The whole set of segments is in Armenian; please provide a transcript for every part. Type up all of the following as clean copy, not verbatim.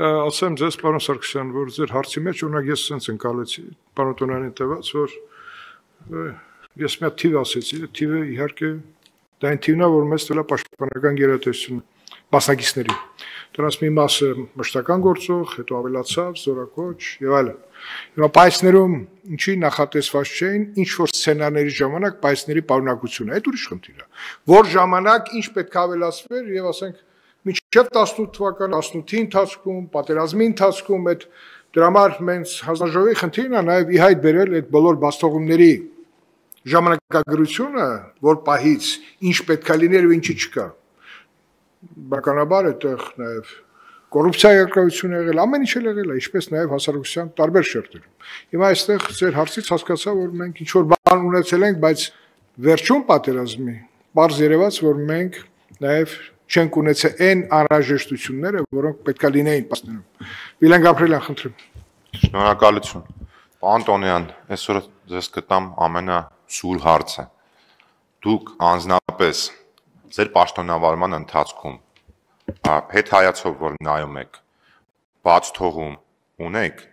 ասեմ ձեզ, պարոն Սարգսյան, որ ձեր հարցի մեջ օրինակ ես sense ընկալեցի, պարոն Տոնյանին տված, որ ես մի հատ թիվ ասեցի, թիվը իհարկե դա այն թիվն է, որ մեզ տվել է պաշտպանական գերատեսչությունը մասնակիցների։ Դրանց մի մասը մշտական գործող, հետո ավելացավ, զորակոչ եւ այլն։ Հիմա պայծներում ինչի նախատեսված չէին, ինչ որ սցենարների ժամանակ պայծների պարունակությունը, այդ ուրիշ խնդիր է։ Որ ժամանակ ինչ պետք է ավելացվեր եւ ասենք մինչև 18 թվականի 18-ի ընթացքում, պատերազմի ընթացքում այդ դրա համար մենք հանձնաժողովի խնդիրն է նաեւ ի հայտ բերել այդ բոլոր բաստողումների ժամանակագրությունը, որ պահից ինչ պետք է լիներ ու ինչի չկա։ Բնականաբար այդտեղ նաև կոռուպցիա երկրություն եղել, ամեն ինչ եղել է, ինչպես նաև հասարակության տարբեր շերտերում։ Հիմա այստեղ ձեր հարցից հասկացա, որ մենք ինչ որ բան ունեցել ենք, բայց վերջում պատերազմի բարձ երևաց, որ մենք նաև չենք ունեցել այն անհրաժեշտությունները, որոնք պետք է լինեին պաստներում։ Վիլեն Գաբրիելյան, խնդրեմ։ Շնորհակալություն։ Պարոն Տոնյան, այսօր ձեզ կտամ ամենասուր հարցը։ Դուք անձնապես ձեր պաշտոնավարման ընթացքում հետհայացով որ նայում եք, բաց թողում ունեք,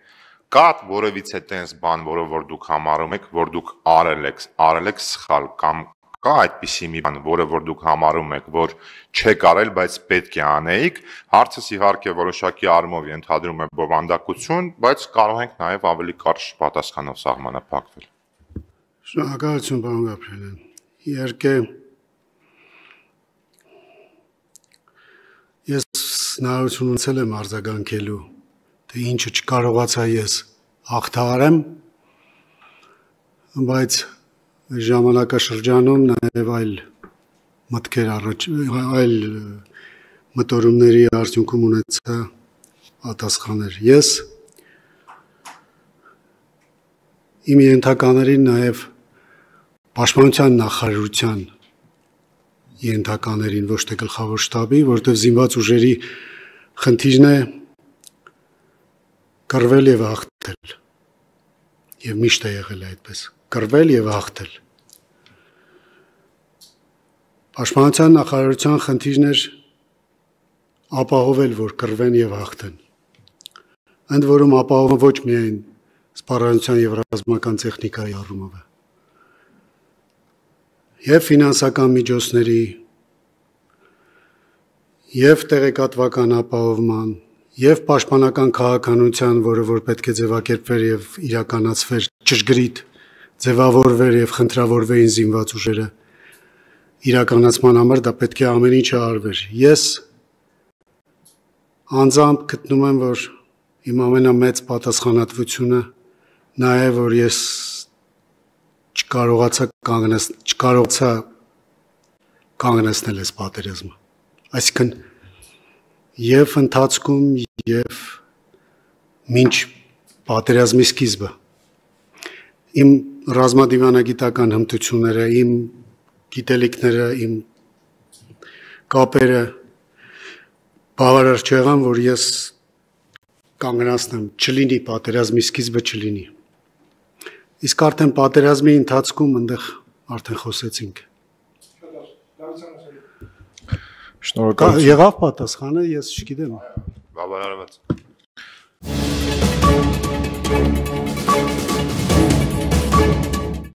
կա որևիցե տենց բան, որը որ դուք համարում եք, որ դուք արել եք սխալ կամ կա այդպիսի մի բան, որը որ դուք համարում եք, որ չեք արել, բայց պետք է անեիք, հարցս իհարկե որոշակի առումով ենթադրում է բովանդակություն, բայց կարող ենք նաև ավելի կարճ պատասխանով սահմանափակվել։ Շնորհակալություն, պարոն Գաբրիելյան։ Իհարկե ես հնարավորություն ունեցել եմ արձագանքելու, թե ինչը չկարողացա ես հաղթահարեմ, բայց ժամանակաշրջանում նաև այլ մտքեր այլ մտորումների արդյունքում ունեցա պատասխաններ։ Ես իմ ենթականերին նաև պաշտպանության նախարարության ենթականերին, ոչ թե գլխավոր շտաբի, որտեղ զինված ուժերի խնդիրն է կռվել եւ հաղթել։ Եվ միշտ է եղել այդպես, կռվել եւ հաղթել։ Պաշտպանության նախարարության խնդիրն էր ապահովել, որ կռվեն եւ հաղթեն։ Ընդ որում ապահովում ոչ միայն սպառազինության եւ ռազմական տեխնիկայի առումով է, եւ ֆինանսական միջոցների, եւ տեղեկատվական ապահովման, եւ պաշտպանական քաղաքականության, որը որ պետք է ձևակերպվեր եւ իրականացվեր ճշգրիտ ձևավորվեր եւ խնդրավորվեին զինված ուժերը իրականացման համար, դա պետք է ամեն ինչը արվեր։ Ես անձամբ գտնում եմ, որ իմ ամենամեծ պատասխանատվությունը նա է, որ ես չկարողացա կանգնեցնել այս պատերազմը։ Այսինքն եւ ընթացքում եւ մինչ պատերազմի սկիզբը իմ ռազմադիվանագիտական հմտությունները, իմ գիտելիքները, իմ կապերը բավարար չեղան, որ ես կանգնացնեմ, չլինի պատերազմի սկիզբը չլինի։ Իսկ արդեն պատերազմի ընթացքում այնտեղ արդեն խոսեցինք։ Շնորհակալություն։ Եղավ պատասխանը, ես չգիտեմ։ Բավարարված։